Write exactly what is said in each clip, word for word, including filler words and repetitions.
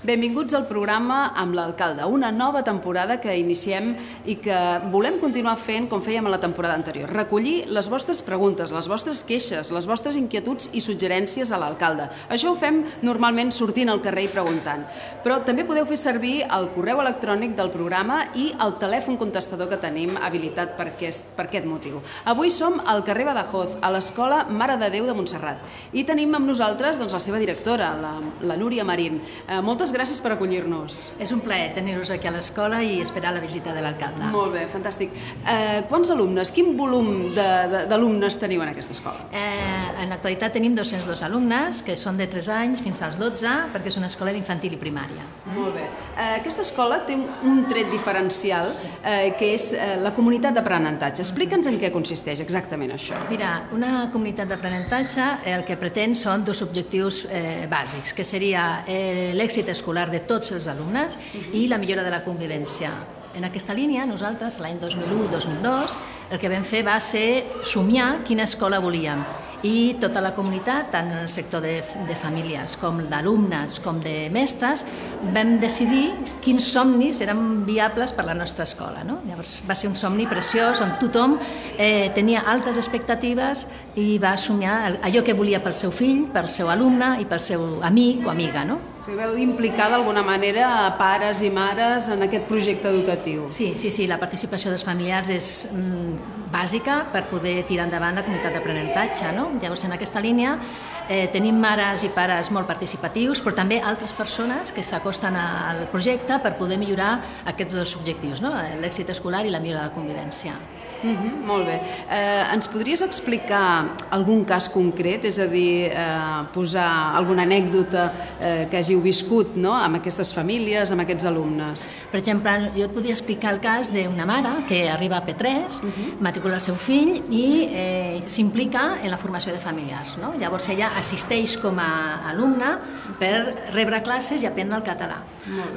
Benvinguts al programa amb l'alcalde, una nova temporada que iniciem i que volem continuar fent com fèiem a la temporada anterior. Recollir les vostres preguntes, les vostres queixes, les vostres inquietuds i suggerències a l'alcalde. Això ho fem normalment sortint al carrer i preguntant. Però també podeu fer servir el correu electrònic del programa i el telèfon contestador que tenim habilitat per aquest, per aquest motiu. Avui som al carrer Badajoz, a l'Escola Mare de Déu de Montserrat. I tenim amb nosaltres doncs, la seva directora, la, la Núria Marín. Eh, moltes gràcies per acollir-nos. És un plaer tenir-vos aquí a l'escola i esperar la visita de l'alcalde. Molt bé, fantàstic. Eh, quants alumnes, quin volum d'alumnes teniu en aquesta escola? Eh, en l'actualitat tenim dos-cents dos alumnes, que són de tres anys fins als dotze, perquè és una escola d'infantil i primària. Molt bé. Eh, aquesta escola té un tret diferencial, eh, que és eh, la comunitat d'aprenentatge. Explica'ns en què consisteix exactament això. Mira, una comunitat d'aprenentatge el que pretén són dos objectius eh, bàsics, que seria eh, l'èxit escolar de tots els alumnes i la millora de la convivència. En aquesta línia, nosaltres, l'any dos mil u dos mil dos, el que vam fer va ser somiar quina escola volíem. I tota la comunitat, tant el sector de, de famílies com d'alumnes com de mestres, vam decidir quins somnis eren viables per a la nostra escola. No? Llavors va ser un somni preciós on tothom eh, tenia altes expectatives i va somiar allò que volia pel seu fill, pel seu alumne i pel seu amic o amiga. No? O sigui, veu implicar d'alguna manera pares i mares en aquest projecte educatiu. Sí, sí, sí, la participació dels familiars és mm, bàsica per poder tirar endavant la comunitat d'aprenentatge. No? Llavors, en aquesta línia eh, tenim mares i pares molt participatius, però també altres persones que s'acosten al projecte per poder millorar aquests dos objectius, no? L'èxit escolar i la millora de la convivència. Uh-huh, molt bé. Eh, ens podries explicar algun cas concret, és a dir, eh, posar alguna anècdota eh, que hàgiu viscut, no?, amb aquestes famílies, amb aquests alumnes? Per exemple, jo et podria explicar el cas d'una mare que arriba a P tres, uh-huh. matricula el seu fill i eh, s'implica en la formació de familiars. No? Llavors ella assisteix com a alumna per rebre classes i aprendre el català.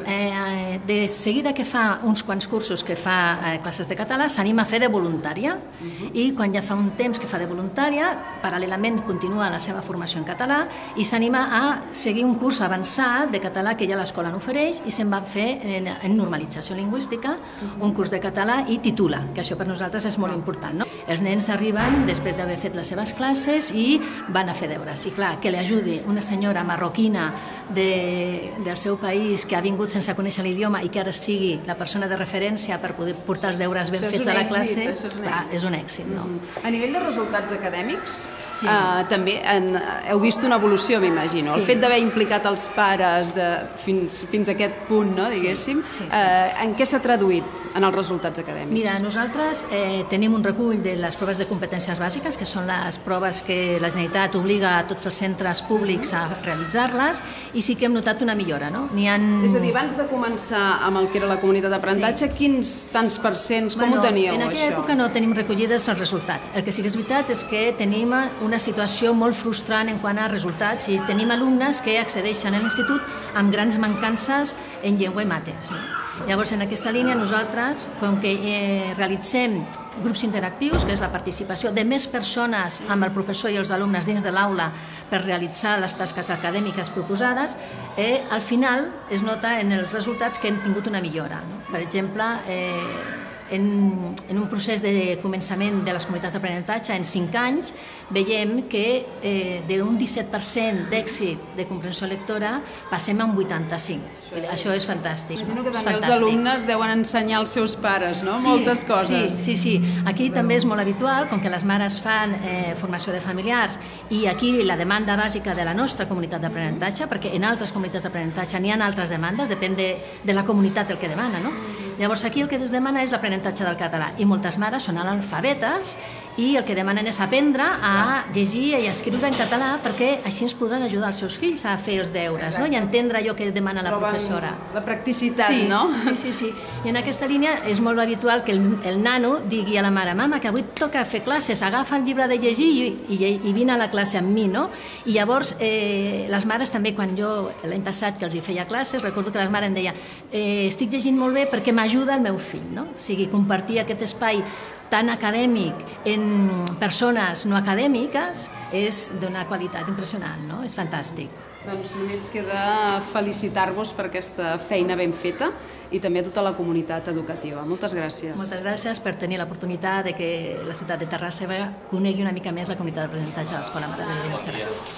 Eh, de seguida que fa uns quants cursos que fa eh, classes de català, s'anima a fer de voluntària uh-huh. i quan ja fa un temps que fa de voluntària, paral·lelament continua la seva formació en català i s'anima a seguir un curs avançat de català que ja l'escola n'ofereix i se'n va fer en, en normalització lingüística, uh-huh. un curs de català i titula, que això per nosaltres és molt important. No? Els nens arriben després d'haver fet les seves classes i van a fer deures. I clar, que li ajudi una senyora marroquina de, del seu país que ha vingut sense conèixer l'idioma i que ara sigui la persona de referència per poder portar els deures ben fets a la classe, és clar, és un èxit. No? Mm-hmm. A nivell de resultats acadèmics, sí. eh, també en, heu vist una evolució, m'imagino. Sí. El fet d'haver implicat els pares de, fins, fins a aquest punt, no, diguéssim, sí, sí, sí. Eh, en què s'ha traduït en els resultats acadèmics? Mira, nosaltres eh, tenim un recull de les proves de competències bàsiques, que són les proves que la Generalitat obliga a tots els centres públics a realitzar-les, i sí que hem notat una millora. No? N'hi ha... És a dir, abans de començar amb el que era la comunitat d'aprenentatge, sí. quins tants percents, com bueno, ho teníeu, en aquella això? època no tenim recollides els resultats. El que sí que és veritat és que tenim una situació molt frustrant en quant a resultats i tenim alumnes que accedeixen a l'institut amb grans mancances en llengua i mates. No? Llavors, en aquesta línia, nosaltres, com que eh, realitzem grups interactius, que és la participació de més persones amb el professor i els alumnes dins de l'aula per realitzar les tasques acadèmiques proposades, eh, al final es nota en els resultats que hem tingut una millora. No? Per exemple, eh, en, en un procés de començament de les comunitats d'aprenentatge en cinc anys, veiem que eh, d'un disset per cent d'èxit de comprensió lectora passem a un vuitanta-cinc. Això és fantàstic. Imagino que és també fantàstic. Els alumnes deuen ensenyar als seus pares, no? Sí, moltes coses. Sí, sí, sí. Aquí també és molt habitual, com que les mares fan eh, formació de familiars i aquí la demanda bàsica de la nostra comunitat d'aprenentatge, perquè en altres comunitats d'aprenentatge n'hi ha altres demandes, depèn de, de la comunitat el que demana, no? Llavors aquí el que es demana és l'aprenentatge del català i moltes mares són analfabetes i el que demanen és aprendre a llegir i a escriure en català perquè així ens podran ajudar els seus fills a fer els deures, no? I entendre allò que demana la professora. La practicitat, sí, no? Sí, sí, sí. I en aquesta línia és molt habitual que el, el nano digui a la mare: mama, que avui toca fer classes, agafa el llibre de llegir i, i, i vine a la classe amb mi, no? I llavors eh, les mares també, quan jo l'any passat que els hi feia classes, recordo que les mares em deia eh, estic llegint molt bé perquè m'ajuda el meu fill, no? O sigui, compartir aquest espai tan acadèmic en persones no acadèmiques és d'una qualitat impressionant, no? És fantàstic. Doncs només queda felicitar-vos per aquesta feina ben feta i també a tota la comunitat educativa. Moltes gràcies. Moltes gràcies per tenir l'oportunitat de que la ciutat de Terrassa conegui una mica més la comunitat d'aprenentatge de l'Escola Mare de Déu de Montserrat.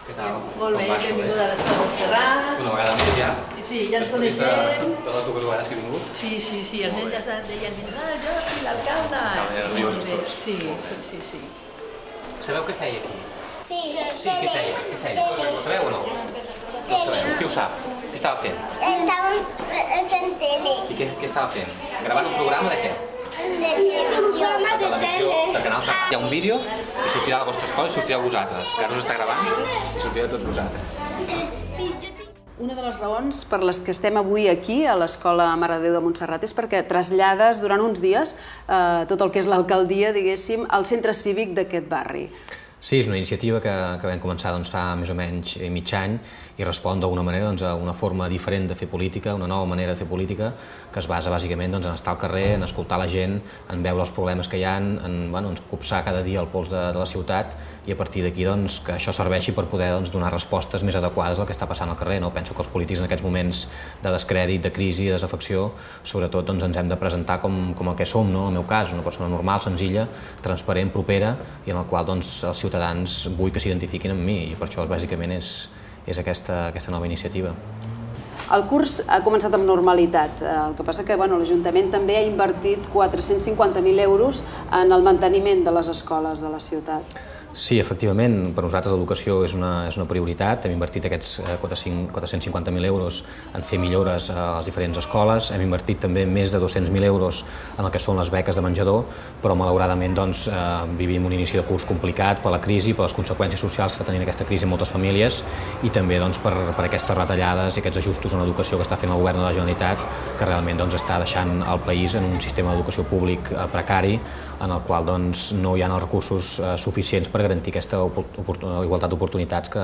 Què tal? Molt bé, benvinguda a l'Escola Montserrat. Una vegada més ja? Sí, ja ens coneixem. De les dues vegades que he vingut? Sí, sí, sí, els nens ja deien, vindrà el Jordi, l'alcalde. Estaven nerviosos tots. Sí, sí, sí, sí. Sabeu què feia aquí? Sí, Sí, què feia? Què feia? Ho sabeu o no? No ho sabeu. Qui ho sap? Què estava fent? Estàvem fent tele. I què, què estava fent? Gravant un programa de què? De programa de tele. De canal. Hi ha un vídeo i sortirà a la vostra escola i sortirà a vosaltres. Que ara us està gravant i sortirà a tots vosaltres. Una de les raons per les que estem avui aquí a l'Escola Mare de Déu de Montserrat és perquè trasllades durant uns dies eh, tot el que és l'alcaldia, diguéssim, al centre cívic d'aquest barri. Sí, és una iniciativa que, que vam començar doncs, fa més o menys mig any i respon d'alguna manera doncs, a una forma diferent de fer política, una nova manera de fer política que es basa bàsicament doncs, en estar al carrer, en escoltar la gent, en veure els problemes que hi ha, en, bueno, en copsar cada dia el pols de, de la ciutat i a partir d'aquí doncs, que això serveixi per poder doncs, donar respostes més adequades al que està passant al carrer. No? Penso que els polítics en aquests moments de descrèdit, de crisi, de desafecció, sobretot doncs, ens hem de presentar com, com el que som, no? En el meu cas, una persona normal, senzilla, transparent, propera i en el qual doncs, els ciutadans vull que s'identifiquin amb mi i per això bàsicament és, és aquesta, aquesta nova iniciativa. El curs ha començat amb normalitat, el que passa que bueno, l'Ajuntament també ha invertit quatre-cents cinquanta mil euros en el manteniment de les escoles de la ciutat. Sí, efectivament, per nosaltres l'educació és una, és una prioritat. Hem invertit aquests quatre-cents cinquanta mil euros en fer millores a les diferents escoles, hem invertit també més de dos-cents mil euros en el que són les beques de menjador, però malauradament doncs, eh, vivim un inici de curs complicat per la crisi, per les conseqüències socials que està tenint aquesta crisi en moltes famílies i també doncs, per, per aquestes retallades i aquests ajustos en l'educació que està fent el govern de la Generalitat, que realment doncs, està deixant el país en un sistema d'educació públic eh, precari, en el qual doncs, no hi ha els recursos eh, suficients per garantir aquesta igualtat d'oportunitats que,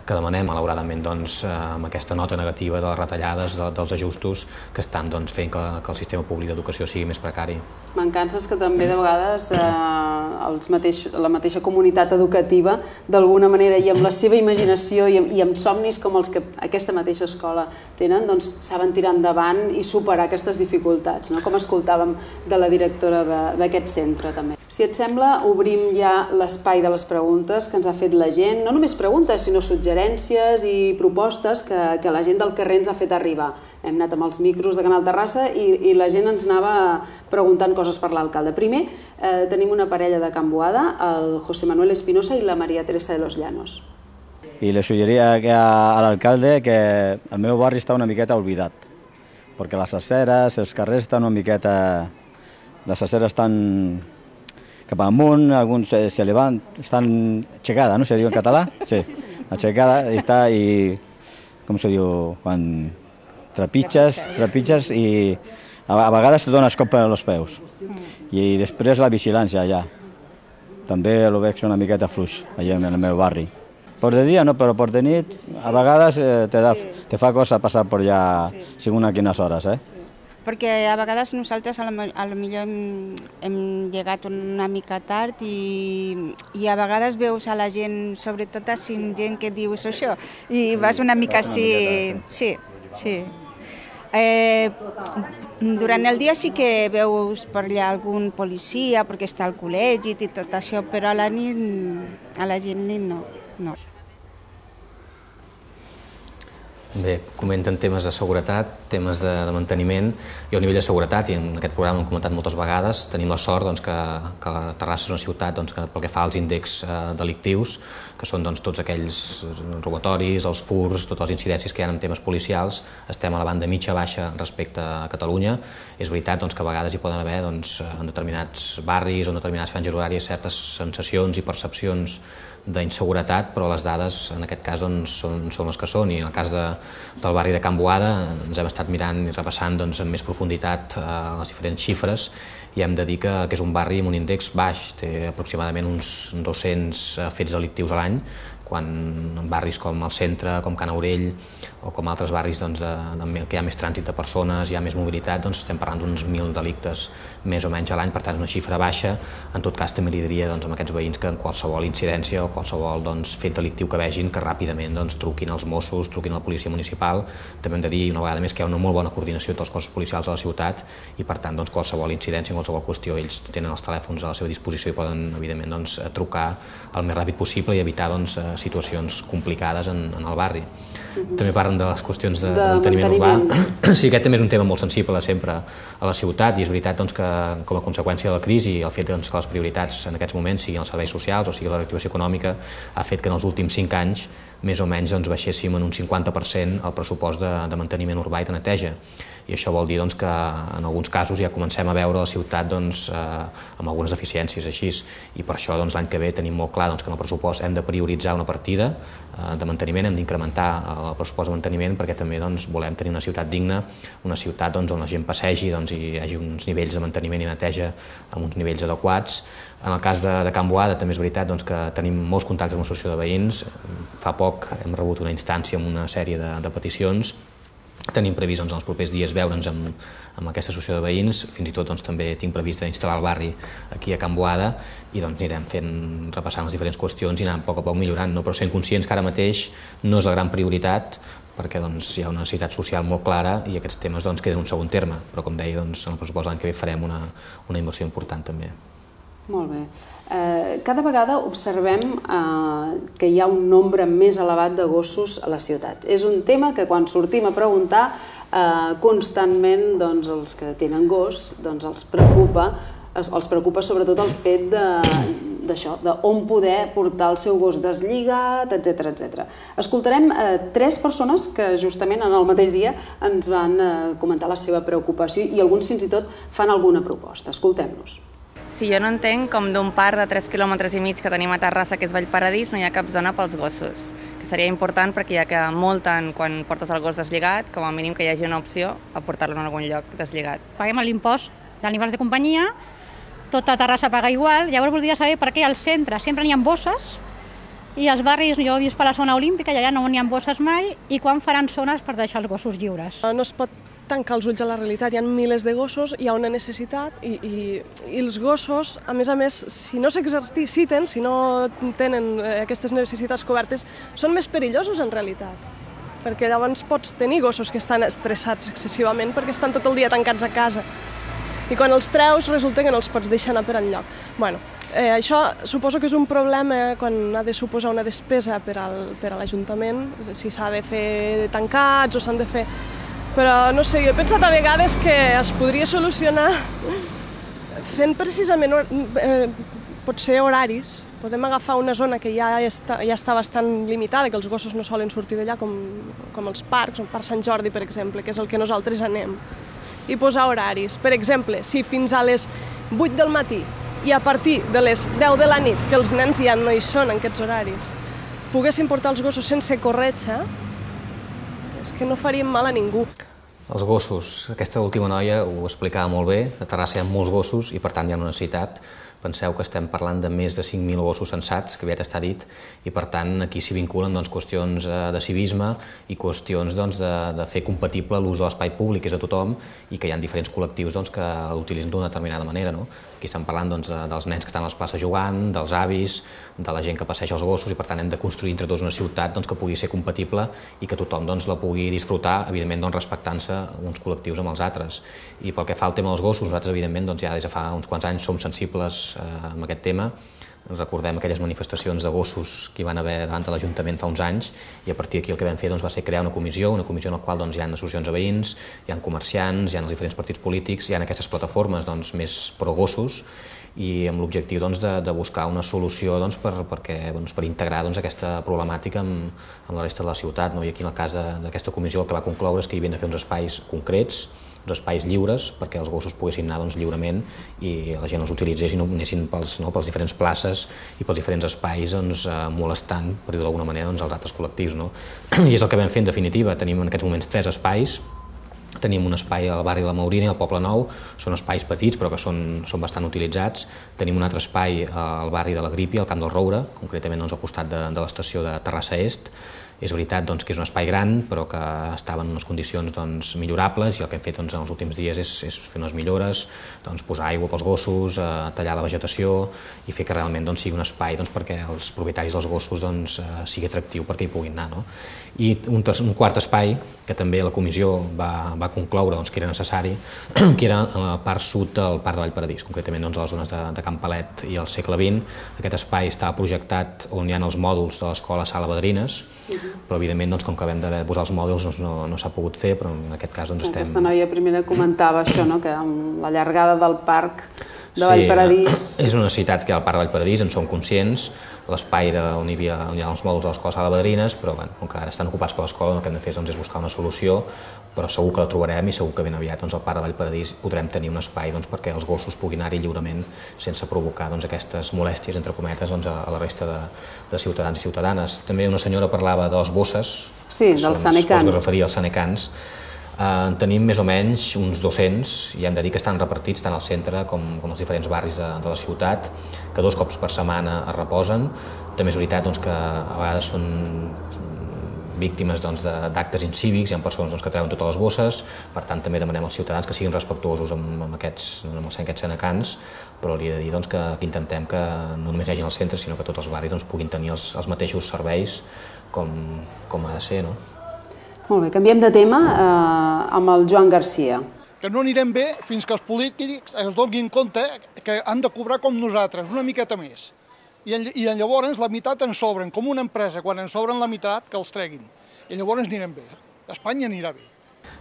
que demanem, malauradament, doncs, amb aquesta nota negativa de les retallades, de, dels ajustos que estan doncs, fent que, que el sistema públic d'educació sigui més precari. Mancances que també de vegades eh, els mateix, la mateixa comunitat educativa d'alguna manera i amb la seva imaginació i amb, i amb somnis com els que aquesta mateixa escola tenen, doncs saben tirar endavant i superar aquestes dificultats, no? Com escoltàvem de la directora d'aquest centre també. Si et sembla, obrim ja l'espai de les preguntes que ens ha fet la gent, no només preguntes, sinó suggerències i propostes que, que la gent del carrer ens ha fet arribar. Hem anat amb els micros de Canal Terrassa i, i la gent ens anava preguntant coses per l'alcalde. Primer, eh, tenim una parella de Can Boada, el José Manuel Espinosa i la Maria Teresa de los Llanos. I li suggeria a l'alcalde que el meu barri està una miqueta oblidat, perquè les aceres, els carrers estan una miqueta... Les aceres estan cap amunt, alguns se, se levant, estan aixecada, no se diu en català? Sí, aixecada, i està, i com se diu, quan trepitges, trepitges i a, a vegades te dones cop als peus. I després la vigilància allà. També ho veig una miqueta fluix allà en el meu barri. Per de dia no, però per de nit a vegades eh, te, da, te fa cosa passar per allà segons a quines hores, eh? Perquè a vegades nosaltres a la, a la millor hem, hem llegat una mica tard i, i a vegades veus a la gent, sobretot a gent que dius això, i vas una mica així... Sí, sí. Eh, durant el dia sí que veus per allà algun policia perquè està al col·legi i tot això, però a la nit, a la gent nit no. no. Bé, comenten temes de seguretat, temes de, de manteniment i al nivell de seguretat, i en aquest programa hem comentat moltes vegades, tenim la sort doncs, que, que Terrassa és una ciutat doncs, que pel que fa als índexs eh, delictius, que són doncs, tots aquells robatoris, els furs, totes les incidències que hi ha en temes policials, estem a la banda mitja-baixa respecte a Catalunya. És veritat doncs, que a vegades hi poden haver doncs, en determinats barris o en determinats franges horàries certes sensacions i percepcions d'inseguretat, però les dades en aquest cas doncs, són, són les que són, i en el cas de, del barri de Can Boada ens hem estat mirant i repassant doncs, amb més profunditat eh, les diferents xifres i hem de dir que, que és un barri amb un índex baix, té aproximadament uns dos-cents fets delictius a l'any, quan en barris com el centre, com Can Aurell o com altres barris doncs, de, de, que hi ha més trànsit de persones, hi ha més mobilitat, doncs estem parlant d'uns mil delictes més o menys a l'any, per tant és una xifra baixa. En tot cas també li diria doncs, a aquests veïns que en qualsevol incidència o qualsevol doncs, fet delictiu que vegin que ràpidament doncs, truquin als Mossos, truquin a la policia municipal. També hem de dir una vegada més que hi ha una molt bona coordinació entre els cossos policials de la ciutat i per tant doncs, qualsevol incidència, qualsevol qüestió, ells tenen els telèfons a la seva disposició i poden evidentment doncs, trucar el més ràpid possible i evitar doncs, situacions complicades en, en el barri. Uh-huh. També parlen de les qüestions de, de, de manteniment, manteniment urbà. Sí, aquest també és un tema molt sensible sempre a la ciutat i és veritat doncs, que com a conseqüència de la crisi i el fet doncs, que les prioritats en aquests moments siguin els serveis socials o sigui la reactivació econòmica ha fet que en els últims cinc anys més o menys doncs, baixéssim en un cinquanta per cent el pressupost de, de manteniment urbà i de neteja. I això vol dir doncs, que en alguns casos ja comencem a veure la ciutat doncs, eh, amb algunes deficiències així. I per això doncs, l'any que ve tenim molt clar doncs, que en el pressupost hem de prioritzar una partida eh, de manteniment, hem d'incrementar el pressupost de manteniment perquè també doncs, volem tenir una ciutat digna, una ciutat doncs, on la gent passegi doncs, i hi hagi uns nivells de manteniment i neteja amb uns nivells adequats. En el cas de, de Can Boada també és veritat doncs, que tenim molts contactes amb l'associació de veïns. Fa poc hem rebut una instància amb una sèrie de, de peticions. Tenim previst doncs, en els propers dies veure'ns amb, amb aquesta associació de veïns, fins i tot doncs, també tinc previst instal·lar el barri aquí a Can Boada i doncs, anirem fent, repassant les diferents qüestions i anant a poc a poc millorant, no? Però sent conscients que ara mateix no és la gran prioritat perquè doncs, hi ha una necessitat social molt clara i aquests temes doncs, queden en un segon terme, però com deia, doncs, en el pressupost l'any que ve farem una, una inversió important també. Molt bé. Eh, cada vegada observem eh, que hi ha un nombre més elevat de gossos a la ciutat. És un tema que quan sortim a preguntar eh, constantment doncs, els que tenen gos doncs, els preocupa, els, els preocupa sobretot el fet de, d'això, d'on poder portar el seu gos deslligat, etcètera, etcètera. Escoltarem eh, tres persones que justament en el mateix dia ens van eh, comentar la seva preocupació i alguns fins i tot fan alguna proposta. Escoltem-los. Sí, jo no entenc com d'un parc de tres quilòmetres i mig que tenim a Terrassa, que és Vallparadís, no hi ha cap zona pels gossos, que seria important perquè ja que multen quan portes el gos deslligat, com a mínim que hi hagi una opció a portar-lo en algun lloc deslligat. Paguem l'impost d'animals de companyia, tota Terrassa paga igual, llavors voldria saber per què al centre sempre n'hi ha bosses i als barris, jo he vist per la zona olímpica i allà no n'hi ha bosses mai, i quan faran zones per deixar els gossos lliures. No es pot tancar els ulls a la realitat, hi ha milers de gossos, hi ha una necessitat i, i, i els gossos, a més a més, si no s'exerciten, si no tenen aquestes necessitats cobertes, són més perillosos en realitat. Perquè llavors pots tenir gossos que estan estressats excessivament perquè estan tot el dia tancats a casa. I quan els treus resulta que no els pots deixar anar per enlloc. Bueno, eh, això suposo que és un problema quan ha de suposar una despesa per al, per a l'Ajuntament, si s'ha de fer tancats o s'han de fer... Però, no sé, jo he pensat a vegades que es podria solucionar fent precisament, eh, potser horaris. Podem agafar una zona que ja està, ja està bastant limitada, que els gossos no solen sortir d'allà, com, com els parcs, el Parc Sant Jordi, per exemple, que és el que nosaltres anem, i posar horaris. Per exemple, si fins a les vuit del matí i a partir de les deu de la nit, que els nens ja no hi són en aquests horaris, poguessin portar els gossos sense corretja, és que no faríem mal a ningú. Els gossos, aquesta última noia ho explicava molt bé, a Terrassa hi ha molts gossos i per tant hi ha una necessitat. Penseu que estem parlant de més de cinc mil gossos censats, que aviat està dit, i per tant aquí s'hi vinculen doncs, qüestions de civisme i qüestions doncs, de, de fer compatible l'ús de l'espai públic, que és de tothom, i que hi ha diferents col·lectius doncs, que l'utilitzen d'una determinada manera. No? Aquí estem parlant doncs, de, dels nens que estan a les places jugant, dels avis, de la gent que passeja els gossos, i per tant hem de construir entre tots una ciutat doncs, que pugui ser compatible i que tothom doncs, la pugui disfrutar, evidentment doncs, respectant-se uns col·lectius amb els altres. I pel que fa al tema dels gossos, nosaltres evidentment doncs, ja des de fa uns quants anys som sensibles amb aquest tema. Recordem aquelles manifestacions de gossos que hi van haver davant de l'Ajuntament fa uns anys i a partir d'aquí el que vam fer doncs, va ser crear una comissió, una comissió en la qual doncs, hi ha associacions de veïns, hi ha comerciants, hi ha els diferents partits polítics, hi ha aquestes plataformes doncs, més pro-gossos i amb l'objectiu doncs, de, de buscar una solució doncs, per, perquè, doncs, per integrar doncs, aquesta problemàtica amb, amb la resta de la ciutat. No? I aquí en el cas d'aquesta comissió el que va concloure és que hi havia de fer uns espais concrets, uns espais lliures perquè els gossos poguessin anar doncs, lliurement i la gent els utilitzés i no anessin pels, no, pels diferents places i pels diferents espais doncs, eh, molestant, per dir-ho d'alguna manera, doncs, els altres col·lectius. No? I és el que vam fer en definitiva. Tenim en aquests moments tres espais Tenim un espai al barri de la Maurina i al Poble Nou, són espais petits però que són, són bastant utilitzats. Tenim un altre espai al barri de la Grípia, al Camp del Roure, concretament doncs, al costat de, de l'estació de Terrassa Est. És veritat doncs, que és un espai gran, però que estava en unes condicions doncs, millorables, i el que hem fet doncs, en els últims dies és, és fer unes millores, doncs, posar aigua pels gossos, eh, tallar la vegetació i fer que realment doncs, sigui un espai doncs, perquè els propietaris dels gossos doncs, eh, sigui atractiu perquè hi puguin anar. No? I un, un quart espai, que també la comissió va, va concloure doncs, que era necessari, que era a la part sud del Parc de Vallparadís, concretament doncs, a les zones de, de Can Palet i al segle vint. Aquest espai està projectat on hi ha els mòduls de l'escola Sala Badrines, però evidentment doncs, com que vam de posar els mòduls doncs, no, no s'ha pogut fer, però en aquest cas doncs, estem... Aquesta noia primera comentava això, no? Que amb la llargada del parc de Vallparadís... Sí, és una necessitat que hi ha al Parc de Vallparadís, en som conscients, l'espai on hi havia on hi ha els mòduls de l'escola Sala Badrines, però bueno, com que ara estan ocupats per l'escola, el que hem de fer doncs, és buscar una solució, però segur que la trobarem i segur que ben aviat doncs, al Parc de Vallparadís podrem tenir un espai doncs, perquè els gossos puguin anar-hi lliurement sense provocar doncs, aquestes molèsties, entre cometes, doncs, a, a la resta de, de ciutadans i ciutadanes. També una senyora parlava de les bosses, sí, dels sanecans. Que es referia als sanecans. En tenim més o menys uns dos-cents i hem de dir que estan repartits tant al centre com, com als diferents barris de, de la ciutat, que dos cops per setmana es reposen. També és veritat doncs, que a vegades són víctimes doncs, d'actes incívics, hi ha persones doncs, que treuen totes les bosses, per tant també demanem als ciutadans que siguin respectuosos amb, amb, aquests, amb aquests sanecans, però li he de dir doncs, que, que intentem que no només hi hagi al centre, sinó que tots els barris doncs, puguin tenir els, els mateixos serveis com, com ha de ser. No? Molt bé, canviem de tema eh, amb el Joan Garcia. Que no anirem bé fins que els polítics es donin compte que han de cobrar com nosaltres, una miqueta més. I, i llavors la meitat ens sobren, com una empresa, quan ens sobren la meitat, que els treguin. I llavors anirem bé. Espanya anirà bé.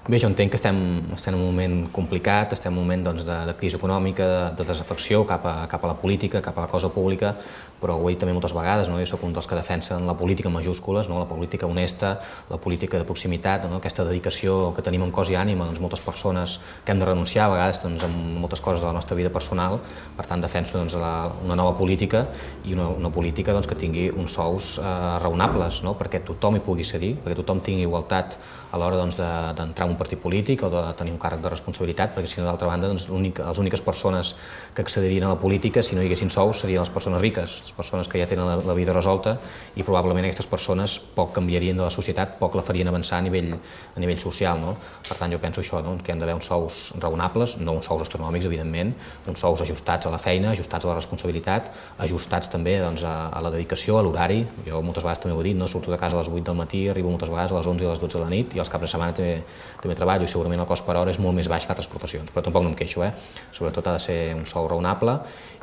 Bé, jo entenc que estem, estem en un moment complicat, estem en un moment doncs, de, de crisi econòmica, de, de desafecció cap a, cap a la política, cap a la cosa pública, però ho he dit també moltes vegades, no? Jo soc un dels que defensen la política en majúscules, no? La política honesta, la política de proximitat, no? Aquesta dedicació que tenim amb cos i ànima, doncs, moltes persones que hem de renunciar a vegades doncs, en moltes coses de la nostra vida personal, per tant defenso doncs, la, una nova política i una, una política doncs, que tingui uns sous eh, raonables, no? Perquè tothom hi pugui cedir, perquè tothom tingui igualtat a l'hora doncs, d'entrar en un partit polític o de tenir un càrrec de responsabilitat, perquè si no, d'altra banda, doncs, les úniques persones que accedirien a la política, si no hi haguessin sous, serien les persones riques, les persones que ja tenen la, la vida resolta, i probablement aquestes persones poc canviarien de la societat, poc la farien avançar a nivell, a nivell social. No? Per tant, jo penso això, no? Que hem d'haver uns sous raonables, no uns sous astronòmics, evidentment, uns sous ajustats a la feina, ajustats a la responsabilitat, ajustats també doncs, a, a la dedicació, a l'horari. Jo moltes vegades també ho he dit, no? Surto de casa a les vuit del matí, arribo moltes vegades a les onze i a les dotze de la nit, i els caps de setmana també, també treballo, i segurament el cost per hora és molt més baix que altres professions, però tampoc no em queixo, eh? Sobretot ha de ser un sou raonable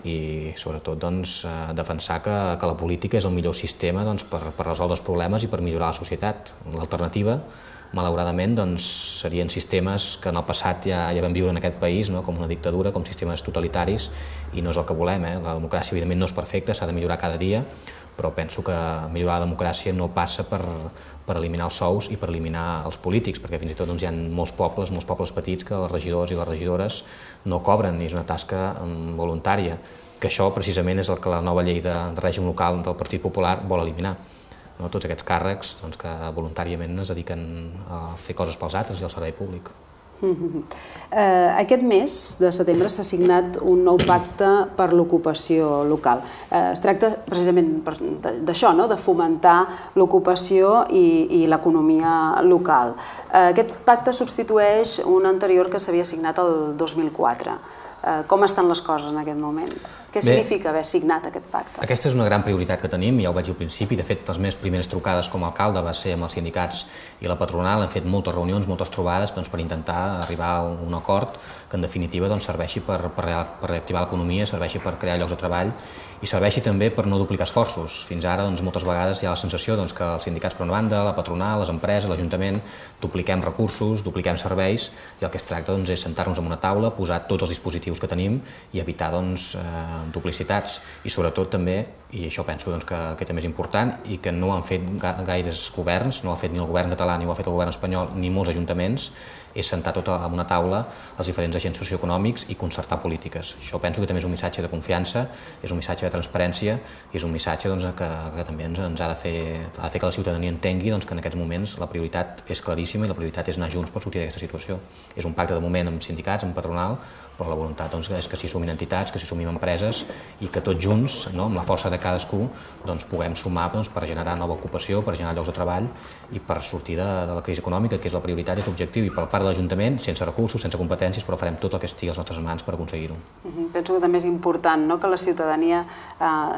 i sobretot doncs, defensar que, que la política és el millor sistema doncs, per, per resoldre els problemes i per millorar la societat. L'alternativa, malauradament, doncs, serien sistemes que en el passat ja, ja vam viure en aquest país, no? Com una dictadura, com sistemes totalitaris, i no és el que volem. Eh? La democràcia, evidentment, no és perfecta, s'ha de millorar cada dia, però penso que millorar la democràcia no passa per, per eliminar els sous i per eliminar els polítics, perquè fins i tot doncs, hi ha molts pobles, molts pobles petits que els regidors i les regidores no cobren, i és una tasca voluntària, que això precisament és el que la nova llei de, de règim local del Partit Popular vol eliminar. No? Tots aquests càrrecs doncs, que voluntàriament es dediquen a fer coses pels altres i al servei públic. Uh-huh. eh, aquest mes de setembre s'ha signat un nou pacte per l'ocupació local. Eh, es tracta precisament d'això, no? De fomentar l'ocupació i, i l'economia local. Eh, aquest pacte substitueix un anterior que s'havia signat el dos mil quatre. Eh, com estan les coses en aquest moment? Què significa haver signat aquest pacte? Aquesta és una gran prioritat que tenim, ja ho vaig dir al principi. De fet, les meves primeres trucades com a alcalde va ser amb els sindicats i la patronal. Hem fet moltes reunions, moltes trobades doncs, per intentar arribar a un acord que en definitiva doncs, serveixi per, per, per reactivar l'economia, serveixi per crear llocs de treball i serveixi també per no duplicar esforços. Fins ara doncs, moltes vegades hi ha la sensació doncs, que els sindicats per una banda, la patronal, les empreses, l'Ajuntament, dupliquem recursos, dupliquem serveis, i el que es tracta doncs, és sentar-nos en una taula, posar tots els dispositius que tenim i evitar doncs, eh, duplicitats i sobretot també, i això penso doncs, que, que també és important i que no han fet gaires governs, no ho ha fet ni el govern català ni ho ha fet el govern espanyol ni molts ajuntaments, és sentar tot en una taula els diferents agents socioeconòmics i concertar polítiques. Això penso que també és un missatge de confiança, és un missatge de transparència i és un missatge doncs, que, que també ens, ens ha, de fer, ha de fer que la ciutadania entengui doncs, que en aquests moments la prioritat és claríssima i la prioritat és anar junts per sortir d'aquesta situació. És un pacte de moment amb sindicats, amb patronal, però la voluntat doncs, és que s'hi sumin entitats, que s'hi sumin empreses i que tots junts, no, amb la força de cadascú, doncs, puguem sumar doncs, per generar nova ocupació, per generar llocs de treball i per sortir de, de la crisi econòmica, que és la prioritat, és l'objectiu, i per part de l'Ajuntament, sense recursos, sense competències, però farem tot el que estigui a les nostres mans per aconseguir-ho. Uh-huh. Penso que també és important, no?, que la ciutadania eh,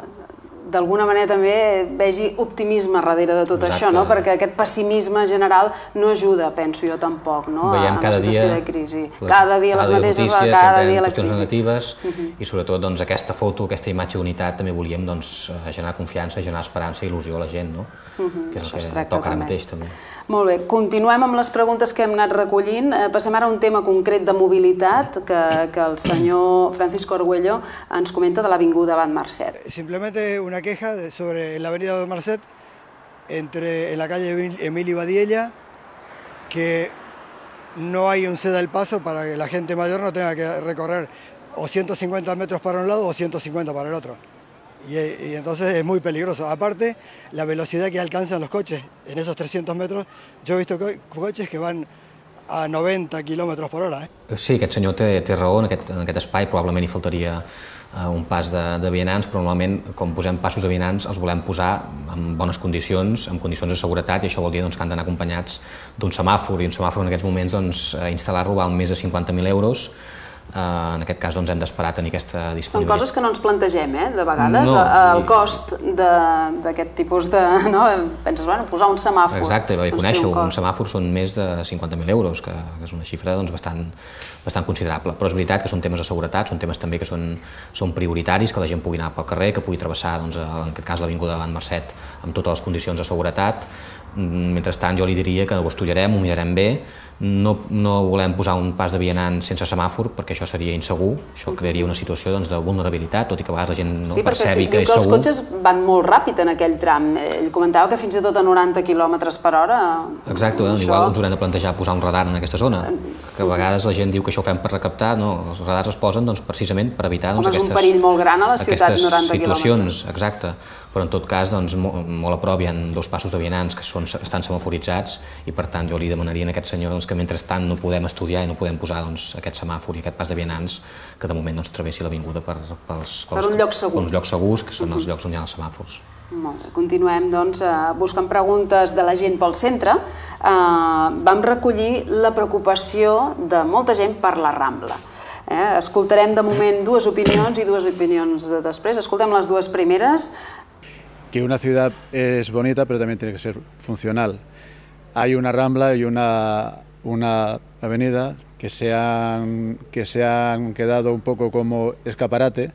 d'alguna manera també vegi optimisme darrere de tot Exacte. Això, no? Perquè aquest pessimisme general no ajuda, penso jo tampoc, no? Veiem a cada la situació dia, de crisi. Cada dia les mateixes, notícies, cada dia la qüestions crisi. negatives uh -huh. i sobretot doncs, aquesta foto, aquesta imatge d'unitat també volíem doncs, generar confiança, generar esperança i il·lusió a la gent, no? Uh -huh. Que és el que toca ara mateix també. Molt bé, continuem amb les preguntes que hem anat recollint. Passem ara a un tema concret de mobilitat que, que el senyor Francisco Argüello ens comenta de l'Avinguda Abad Marcet. Simplemente una queja sobre la avenida Abad Marcet, entre, en la calle Emilio Badiella, que no hay un ceda del paso para que la gente mayor no tenga que recorrer o ciento cincuenta metros para un lado o ciento cincuenta para el otro. Y, y entonces es muy peligroso. Aparte, la velocidad que alcanzan los coches en esos trescientos metros, yo he visto co coches que van a noventa kilómetros por hora. Eh? Sí, aquest senyor té, té raó, en aquest, en aquest espai probablement hi faltaria uh, un pas de, de vianants, però normalment, com posem passos de vianants, els volem posar en bones condicions, en condicions de seguretat, i això vol dir doncs, que han d'anar acompanyats d'un semàfor, i un semàfor en aquests moments doncs, instal·lar-lo val més de cinquanta mil euros. Uh, en aquest cas doncs, hem d'esperar tenir aquesta disponibilitat. Són coses que no ens plantegem, eh? De vegades, no, el cost d'aquest tipus de... No? Penses, bueno, posar un semàfor... Exacte, doncs conèixer-ho, un, un semàfor són més de cinquanta mil euros, que, que és una xifra doncs, bastant, bastant considerable. Però és veritat que són temes de seguretat, són temes també que són, són prioritaris, que la gent pugui anar pel carrer, que pugui travessar, doncs, en aquest cas, l'Avinguda Abad Marcet amb totes les condicions de seguretat. Mentrestant, jo li diria que ho estudiarem, ho mirarem bé. No, no volem posar un pas de vianant sense semàfor, perquè això seria insegur, això crearia una situació doncs, de vulnerabilitat, tot i que a vegades la gent no sí, percebi sí, que és segur. Sí, perquè els cotxes van molt ràpid en aquell tram. Ell comentava que fins i tot a noranta quilòmetres per hora... Exacte, això... igual ens haurem de plantejar posar un radar en aquesta zona, que a vegades la gent diu que això ho fem per recaptar, no, els radars es posen doncs, precisament per evitar doncs, Home, aquestes, és un perill molt gran a la ciutat, noranta situacions, exacte. Però en tot cas, doncs, molt, molt a prop hi ha dos passos de vianants que són, estan semaforitzats i per tant jo li demanaria a aquest senyor doncs, que mentrestant no podem estudiar i no podem posar doncs, aquest semàfor i aquest pas de vianants que de moment doncs, travessi l'avinguda per, pels, pels, per un lloc segur. Per uns llocs segurs, que són uh -huh. els llocs on hi ha els semàfors. Molt bé. Continuem doncs, buscant preguntes de la gent pel centre. Uh, vam recollir la preocupació de molta gent per la Rambla. Eh? Escoltarem de moment dues opinions i dues opinions de després. Escoltem les dues primeres. Que una ciudad es bonita, pero también tiene que ser funcional. Hay una Rambla y una, una avenida que se, han, que se han quedado un poco como escaparate,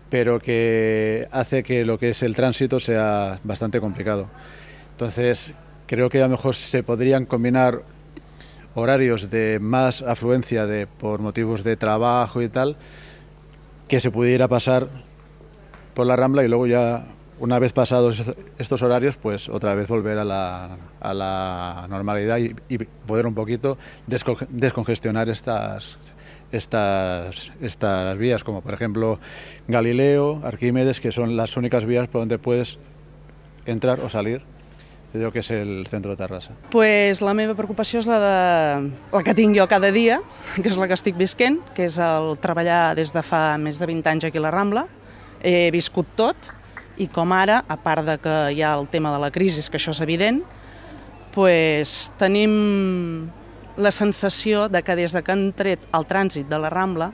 pero que hace que lo que es el tránsito sea bastante complicado. Entonces, creo que a lo mejor se podrían combinar horarios de más afluencia de, por motivos de trabajo y tal, que se pudiera pasar por la Rambla y luego ya, una vez pasados estos horarios, pues otra vez volver a la, a la normalidad y, y poder un poquito descongestionar estas, estas, estas vías, como por ejemplo Galileo, Arquímedes, que son las únicas vías por donde puedes entrar o salir de lo que és el centre de Terrassa. Pues la meva preocupació és la, de, la que tinc jo cada dia, que és la que estic visquent, que és el treballar des de fa més de vint anys aquí a la Rambla. He viscut tot, i com ara, a part de que hi ha el tema de la crisi, que això és evident, pues, tenim la sensació de que des de que han tret el trànsit de la Rambla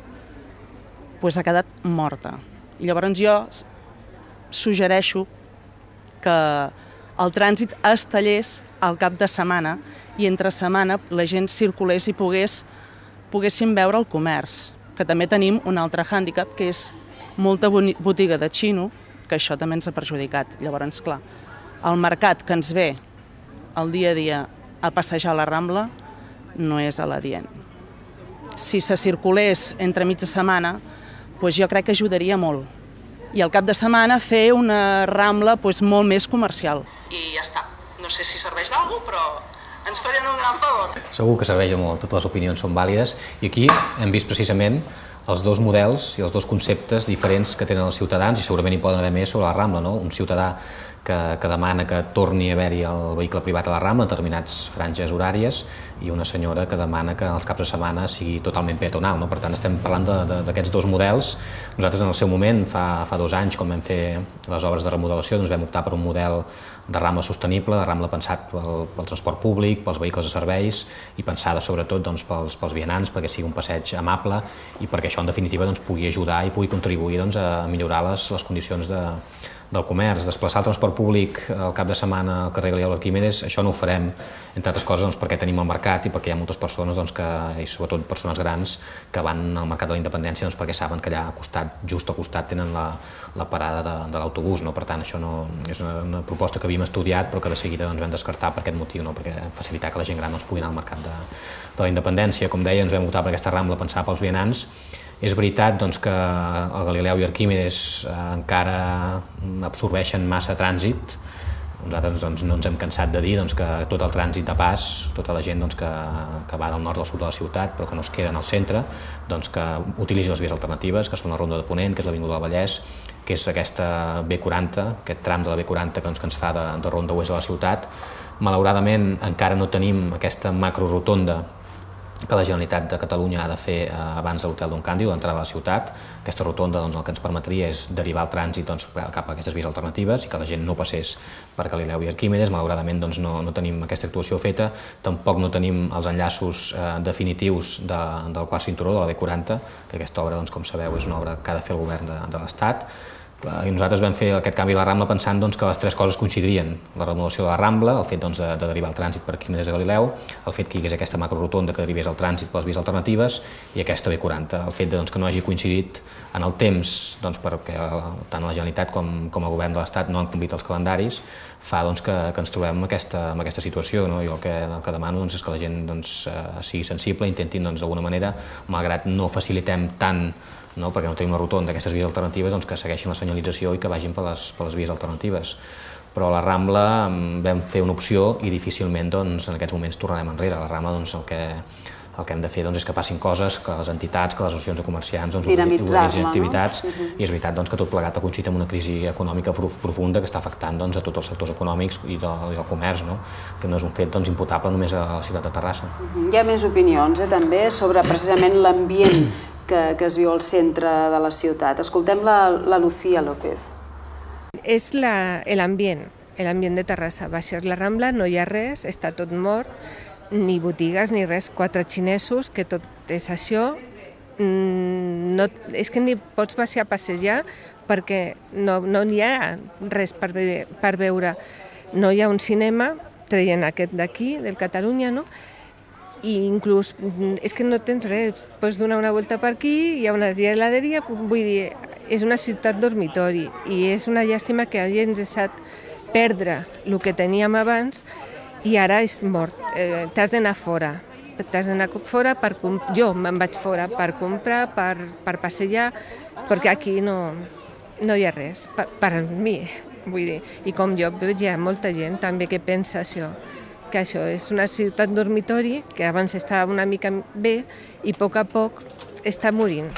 pues, ha quedat morta. I llavors jo suggereixo que el trànsit es tallés al cap de setmana i entre setmana la gent circulés i pogués, poguéssim veure el comerç, que també tenim un altre hàndicap, que és molta botiga de xino, que això també ens ha perjudicat. Llavors, clar, el mercat que ens ve el dia a dia a passejar la Rambla no és a l'adient. Si se circulés entre mitja setmana, doncs jo crec que ajudaria molt. I al cap de setmana fer una Rambla doncs, molt més comercial. I ja està. No sé si serveix d'algú, però ens farien un gran favor. Segur que serveix molt, totes les opinions són vàlides. I aquí hem vist precisament els dos models i els dos conceptes diferents que tenen els ciutadans, i segurament hi poden haver més sobre la Rambla, no? Un ciutadà que, que demana que torni a haver-hi el vehicle privat a la Rambla en determinats franges horàries, i una senyora que demana que els caps de setmana sigui totalment peatonal, no? Per tant, estem parlant d'aquests dos models. Nosaltres en el seu moment, fa, fa dos anys, quan vam fer les obres de remodelació, doncs vam optar per un model de Rambla sostenible, de Rambla pensat pel, pel transport públic, pels vehicles de serveis, i pensada sobretot doncs, pels, pels vianants, perquè sigui un passeig amable i perquè això en definitiva doncs, pugui ajudar i pugui contribuir doncs, a millorar les, les condicions de, del comerç. Desplaçar el transport públic al cap de setmana al carrer Galileu Arquímedes, això no ho farem, entre altres coses doncs, perquè tenim el mercat i perquè hi ha moltes persones, doncs, que, i sobretot persones grans, que van al mercat de la Independència doncs, perquè saben que allà al costat, just al costat, tenen la, la parada de, de l'autobús. No? Per tant, això no, és una, una proposta que havíem estudiat però que de seguida doncs, vam descartar per aquest motiu, no? Perquè facilitar que la gent gran doncs, pugui anar al mercat de, de la Independència. Com deia, ens vam optar per aquesta Rambla pensada pels vianants. És veritat doncs, que el Galileu i Arquímedes eh, encara absorbeixen massa trànsit. Nosaltres doncs, no ens hem cansat de dir doncs, que tot el trànsit de pas, tota la gent doncs, que, que va del nord al sud de la ciutat però que no es queda en el centre, doncs, que utilitzi les vies alternatives, que són la Ronda de Ponent, que és l'Avinguda del Vallès, que és aquesta B quaranta, aquest tram de la B quaranta que, doncs, que ens fa de, de ronda oest de la ciutat. Malauradament encara no tenim aquesta macrorotonda que la Generalitat de Catalunya ha de fer eh, abans de l'Hotel Don Càndido, l'entrada a la ciutat. Aquesta rotonda doncs, el que ens permetria és derivar el trànsit doncs, cap a aquestes vies alternatives i que la gent no passés per Galileu i Arquímedes. Malauradament doncs, no, no tenim aquesta actuació feta, tampoc no tenim els enllaços eh, definitius de, del quart cinturó, de la B quaranta, que aquesta obra, doncs, com sabeu, és una obra que ha de fer el govern de, de l'Estat. I nosaltres vam fer aquest canvi a la Rambla pensant doncs, que les tres coses coincidirien. La remodelació de la Rambla, el fet doncs, de, de derivar el trànsit per Arquímedes a Galileu, el fet que hi hagués aquesta macrorotonda que derivés el trànsit per les vies alternatives i aquesta B quaranta. El fet de, doncs, que no hagi coincidit en el temps, doncs, perquè tant la Generalitat com, com el govern de l'Estat no han complit els calendaris, fa doncs, que, que ens trobem en aquesta, en aquesta situació. No? Jo el que, el que demano doncs, és que la gent doncs, sigui sensible, intentin doncs, d'alguna manera, malgrat no facilitem tant, no? Perquè no tenim una rotonda d'aquestes vies alternatives, doncs que segueixin la senyalització i que vagin per les, per les vies alternatives. Però a la Rambla vam fer una opció i difícilment doncs, en aquests moments tornarem enrere. A la Rambla doncs, el, que, el que hem de fer doncs, és que passin coses, que les entitats, que les associacions de comerciants doncs, organitzin activitats, no? Uh-huh. I és veritat doncs, que tot plegat ha coincidit amb una crisi econòmica profunda que està afectant doncs, a tots els sectors econòmics i del, i del comerç, no? Que no és un fet doncs, imputable només a la ciutat de Terrassa. Uh-huh. Hi ha més opinions eh, també sobre precisament l'ambient que, que es viu al centre de la ciutat. Escoltem la, la Lucía López. És l'ambient, l'ambient de Terrassa. Va ser la Rambla, no hi ha res, està tot mort, ni botigues ni res, quatre xinesos, que tot és això. No, és que ni pots passejar a passejar perquè no, no hi ha res per, ve, per veure. No hi ha un cinema, traient aquest d'aquí, del Catalunya, no? I inclús, és que no tens res, pots donar una volta per aquí, hi ha una geladeria, vull dir, és una ciutat dormitori i és una llàstima que hagi deixat perdre el que teníem abans i ara és mort. Eh, t'has d'anar fora, t'has d'anar fora per comprar, jo me'n vaig fora per comprar, per, per passejar, perquè aquí no, no hi ha res, per, per mi, vull dir. I com jo veig, hi ha molta gent també que pensa això, que això és una ciutat dormitori que abans estava una mica bé i a poc a poc està morint.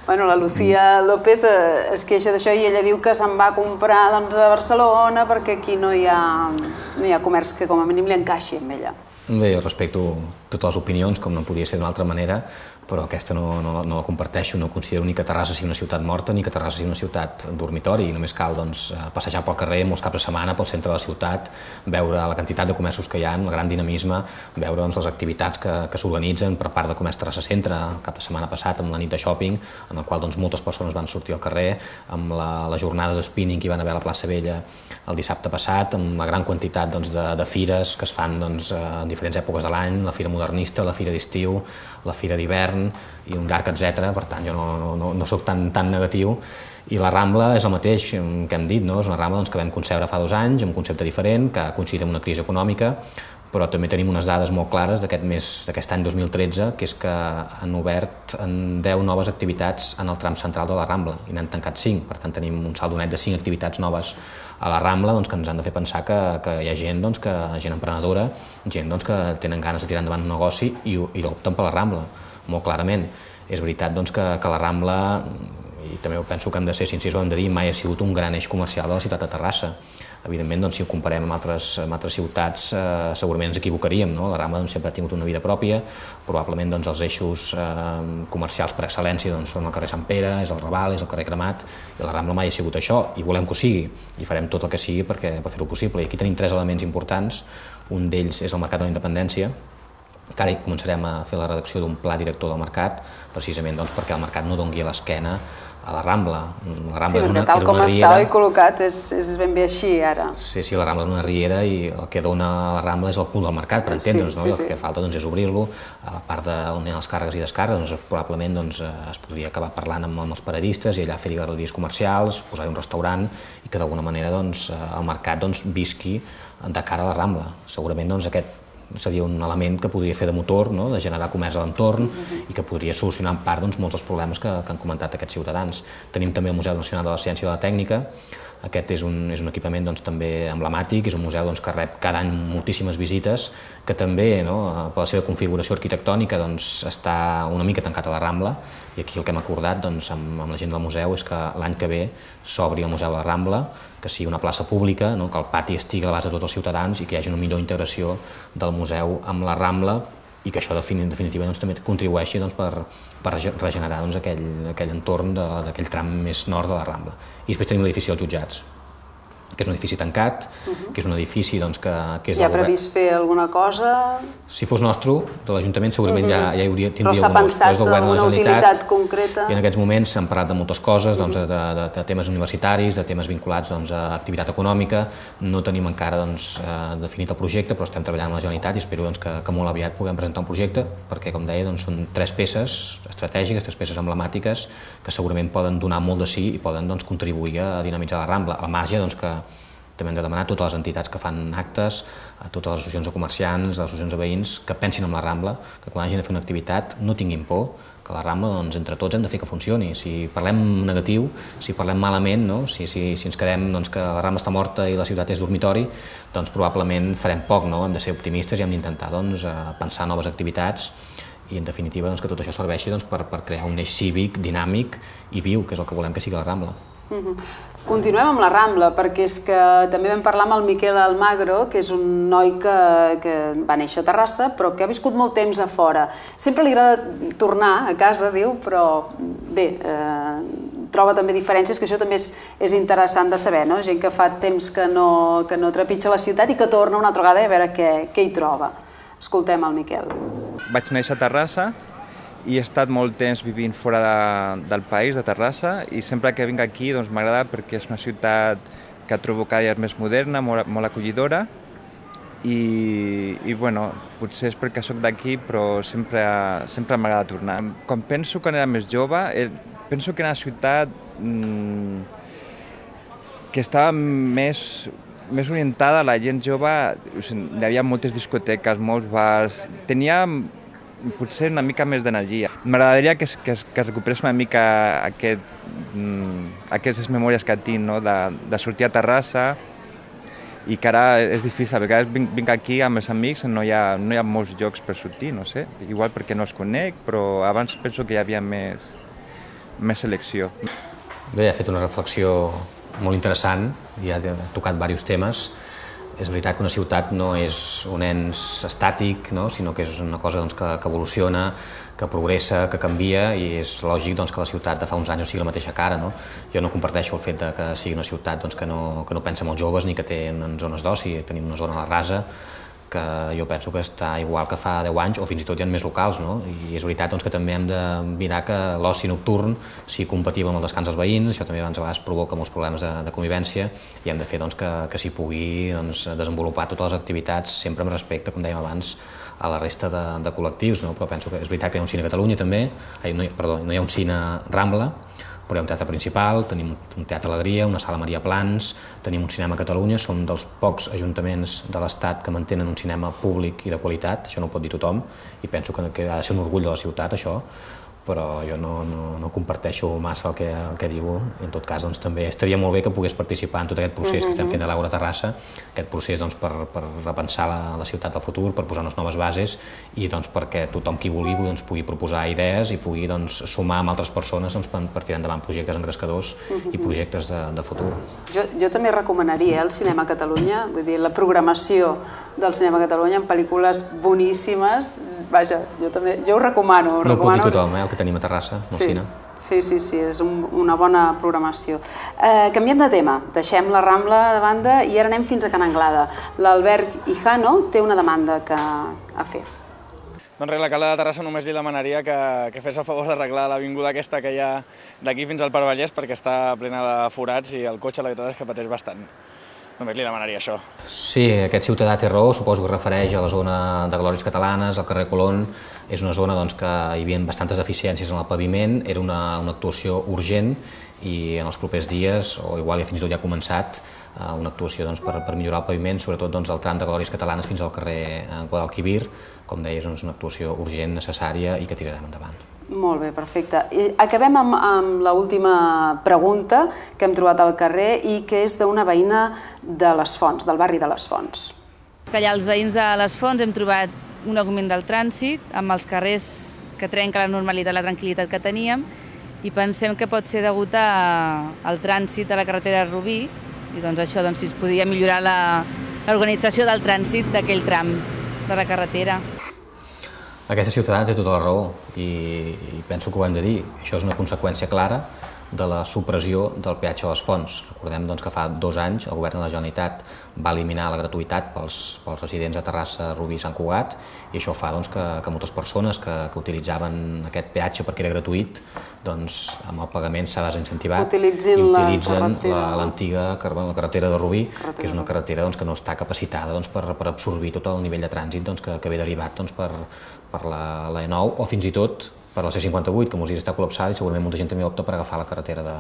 Bueno, la Lucía López es queixa d'això i ella diu que se'n va a comprar doncs, a Barcelona perquè aquí no hi ha, no hi ha comerç que com a mínim li encaixi amb ella. Bé, jo respecto totes les opinions, com no podia ser d'una altra manera, però aquesta no, no, no la comparteixo, no considero ni que Terrassa sigui una ciutat morta ni que Terrassa sigui una ciutat dormitori. Només cal doncs, passejar pel carrer molts caps de setmana pel centre de la ciutat, veure la quantitat de comerços que hi ha, el gran dinamisme, veure doncs, les activitats que, que s'organitzen per part de Comerç Terrassa Centre el cap de setmana passat amb la nit de shopping, en el qual doncs, moltes persones van sortir al carrer, amb la, les jornades de spinning que hi van haver a la plaça Vella el dissabte passat, amb la gran quantitat doncs, de, de fires que es fan doncs, en diferents èpoques de l'any, la fira modernista, la fira d'estiu, la fira d'hivern i un llarg etcètera. Per tant, jo no, no, no soc tan, tan negatiu. I la Rambla és el mateix que hem dit, no? És una Rambla doncs, que vam concebre fa dos anys, amb un concepte diferent, que ha coincidit amb una crisi econòmica, però també tenim unes dades molt clares d'aquest any dos mil tretze, que és que han obert en deu noves activitats en el tram central de la Rambla i n'han tancat cinc, per tant tenim un saldo net de cinc activitats noves a la Rambla que ens han de fer pensar que hi ha gent gent emprenedora, gent que tenen ganes de tirar endavant un negoci i opten per la Rambla, molt clarament. És veritat que la Rambla, i també penso que hem de ser sincers, ho hem de dir, mai ha sigut un gran eix comercial de la ciutat de Terrassa. Evidentment, si ho comparem amb altres ciutats, segurament ens equivocaríem. La Rambla sempre ha tingut una vida pròpia, probablement els eixos comercials per excel·lència són el carrer Sant Pere, és el Raval, és el carrer Cremat, i la Rambla mai ha sigut això, i volem que ho sigui, i farem tot el que sigui per fer-ho possible. I aquí tenim tres elements importants, un d'ells és el Mercat de la Independència, que ara començarem a fer la redacció d'un pla director del mercat, precisament perquè el mercat no doni a l'esquena a la Rambla. Sí, perquè tal com està i col·locat és ben bé així ara. Sí, sí, la Rambla és una riera i el que dona a la Rambla és el cul del mercat, per entendre'ns, no? El que falta és obrir-lo. A la part on hi ha les càrregues i descàrregues, probablement es podria acabar parlant amb els paradistes i allà fer-hi galeries comercials, posar-hi un restaurant i que d'alguna manera el mercat visqui de cara a la Rambla. Segurament aquest seria un element que podria fer de motor, de generar comerç a l'entorn i que podria solucionar en part molts dels problemes que han comentat aquests ciutadans. Tenim també el Museu Nacional de la Ciència i de la Tècnica. Aquest és un equipament també emblemàtic, és un museu que rep cada any moltíssimes visites, que també, per la seva configuració arquitectònica, està una mica tancat a la Rambla, i aquí el que hem acordat amb la gent del museu és que l'any que ve s'obri el Museu de la Rambla, que sigui una plaça pública, que el pati estigui a l'abast de tots els ciutadans i que hi hagi una millor integració del museu amb la Rambla i que això en definitiva també contribueixi per regenerar aquell entorn d'aquell tram més nord de la Rambla. I després tenim l'edifici dels jutjats, que és un edifici tancat, que és un edifici que és... Hi ha previst fer alguna cosa? Si fos nostre, de l'Ajuntament, segurament ja tindria un Però s'ha pensat en una utilitat concreta? I en aquests moments s'han parlat de moltes coses, de temes universitaris, de temes vinculats a activitat econòmica. No tenim encara definit el projecte, però estem treballant amb la Generalitat i espero que molt aviat puguem presentar un projecte, perquè, com deia, són tres peces estratègiques, tres peces emblemàtiques, que segurament poden donar molt de sí i poden contribuir a dinamitzar la Rambla, al marge que també hem de demanar a totes les entitats que fan actes, a totes les associacions de comerciants, les associacions de veïns, que pensin en la Rambla, que quan hagin de fer una activitat no tinguin por, que la Rambla, entre tots, hem de fer que funcioni. Si parlem negatiu, si parlem malament, si ens quedem que la Rambla està morta i la ciutat és dormitori, doncs probablement farem poc, hem de ser optimistes i hem d'intentar pensar noves activitats i, en definitiva, que tot això serveixi per crear un eix cívic, dinàmic i viu, que és el que volem que sigui la Rambla. Continuem amb la Rambla, perquè és que també vam parlar amb el Miquel Almagro, que és un noi que va néixer a Terrassa, però que ha viscut molt temps a fora. Sempre li agrada tornar a casa, diu, però bé, troba també diferències, que això també és interessant de saber, no? Gent que fa temps que no trepitja la ciutat i que torna una altra vegada a veure què hi troba. Escoltem el Miquel. Vaig néixer a Terrassa i he estat molt temps vivint fora del país, de Terrassa, i sempre que vinc aquí m'agrada perquè és una ciutat que trobo cada dia més moderna, molt acollidora, i potser és perquè soc d'aquí, però sempre m'agrada tornar. Quan penso quan era més jove, penso que era una ciutat que estava més més orientada a la gent jove. Hi havia moltes discoteques, molts bars, tenia potser una mica més d'energia. M'agradaria que es recuperés una mica aquestes memòries que tinc de sortir a Terrassa i que ara és difícil. A vegades vinc aquí amb els amics, no hi ha molts llocs per sortir, no sé, igual perquè no els conec, però abans penso que hi havia més selecció. Bé, ha fet una reflexió molt interessant i ha tocat diversos temes. És veritat que una ciutat no és un ens estàtic, sinó que és una cosa que evoluciona, que progressa, que canvia, i és lògic que la ciutat de fa uns anys no sigui la mateixa que ara. Jo no comparteixo el fet que sigui una ciutat que no pensa en els joves ni que té zones d'oci. Tenim una zona a la Rasa que jo penso que està igual que fa deu anys, o fins i tot hi ha més locals, i és veritat que també hem de mirar que l'oci nocturn sigui compatible amb el descans dels veïns. Això també a vegades provoca molts problemes de convivència i hem de fer que s'hi pugui desenvolupar totes les activitats sempre amb respecte, com dèiem abans, a la resta de col·lectius, però penso que és veritat que hi ha un cine a Catalunya també, perdó, no hi ha un cine Rambla, però hi ha un teatre principal, tenim un teatre Alegria, una sala Maria Plans, tenim un cinema a Catalunya, som dels pocs ajuntaments de l'Estat que mantenen un cinema públic i de qualitat, això no ho pot dir tothom, i penso que ha de ser un orgull de la ciutat, això, però jo no, no, no comparteixo massa el que, el que diu, i en tot cas doncs, també estaria molt bé que pogués participar en tot aquest procés mm-hmm. que estem fent a l'Àgora Terrassa, aquest procés doncs, per, per repensar la, la ciutat del futur, per posar unes noves bases i doncs, perquè tothom qui vulgui doncs, pugui proposar idees i pugui doncs, sumar amb altres persones doncs, per, per tirar endavant projectes engrescadors mm-hmm. i projectes de, de futur. Jo, jo també recomanaria eh, el Cinema a Catalunya, vull dir, la programació del Cinema a Catalunya en pel·lícules boníssimes. Vaja, jo també, jo ho recomano. No ho pot dir tothom, eh, el que tenim a Terrassa, al sí, cine. Sí, sí, sí, és un, una bona programació. Eh, canviem de tema, deixem la Rambla de banda i ara anem fins a Can Anglada. L'Albert Hijano té una demanda que a fer. Doncs res, l'alcalde de Terrassa només li demanaria que, que fes el favor d'arreglar l'avinguda aquesta que hi ha d'aquí fins al Parc Vallès perquè està plena de forats i el cotxe la veritat és que pateix bastant. Només li demanaria això. Sí, aquest ciutadà té raó, suposo que es refereix a la zona de Glòries Catalanes, al carrer Colón. És una zona doncs, que hi havia bastantes deficiències en el paviment, era una, una actuació urgent i en els propers dies, o igual ja fins i tot ja ha començat, una actuació doncs, per, per millorar el paviment, sobretot doncs, el tram de Glòries Catalanes fins al carrer Guadalquivir. Com deies, és una actuació urgent, necessària i que tirarem endavant. Molt bé, perfecte. I acabem amb, amb l'última pregunta que hem trobat al carrer i que és d'una veïna de les Fonts, del barri de les Fonts. Que allà els veïns de les Fonts hem trobat un augment del trànsit amb els carrers que trenca la normalitat, la tranquil·litat que teníem i pensem que pot ser degut a, al trànsit de la carretera de Rubí i doncs això, doncs, si es podia millorar l'organització del trànsit d'aquell tram de la carretera. Aquesta ciutadana té tota la raó i, i penso que ho hem de dir. Això és una conseqüència clara de la supressió del peatge a les Fonts. Recordem doncs, que fa dos anys el govern de la Generalitat va eliminar la gratuïtat pels, pels residents de Terrassa, Rubí i Sant Cugat i això fa doncs, que, que moltes persones que, que utilitzaven aquest peatge perquè era gratuït, doncs, amb el pagament s'ha desincentivat Utilitzin i utilitzen l'antiga la carretera de Rubí, carretera. que és una carretera doncs, que no està capacitada doncs, per, per absorbir tot el nivell de trànsit doncs, que, que ve derivat doncs, per, per la, la E nou o fins i tot per la C cinquanta vuit, que molts dies està col·lapsada i segurament molta gent també opta per agafar la carretera de,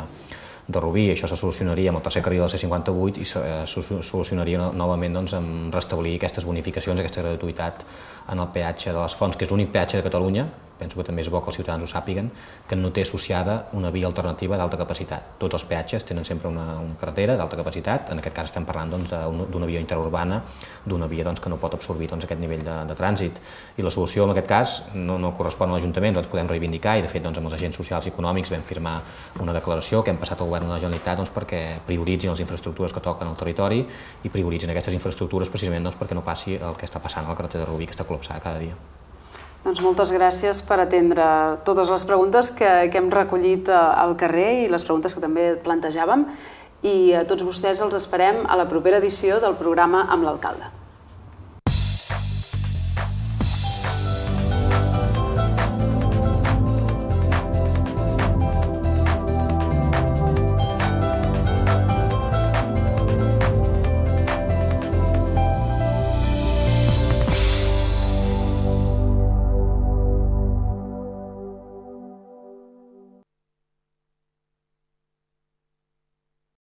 de Rubí. Això se solucionaria amb el tercer carril del C cinquanta vuit i se solucionaria novament doncs, amb restablir aquestes bonificacions, aquesta gratuïtat en el peatge de les Fonts, que és l'únic peatge de Catalunya, penso que també és bo que els ciutadans ho sàpiguen, que no té associada una via alternativa d'alta capacitat. Tots els peatges tenen sempre una, una carretera d'alta capacitat, en aquest cas estem parlant doncs, d'una via interurbana, d'una via doncs, que no pot absorbir doncs, aquest nivell de, de trànsit. I la solució en aquest cas no, no correspon a l'Ajuntament, ens podem reivindicar i de fet doncs, amb els agents socials i econòmics vam firmar una declaració que hem passat al govern de la Generalitat doncs, perquè prioritzin les infraestructures que toquen al territori i prioritzin aquestes infraestructures precisament doncs, perquè no passi el que està passant a la carretera de Rubí, que està col·lapsada cada dia. Doncs moltes gràcies per atendre totes les preguntes que, que hem recollit al carrer i les preguntes que també plantejàvem i a tots vostès els esperem a la propera edició del programa amb l'alcalde.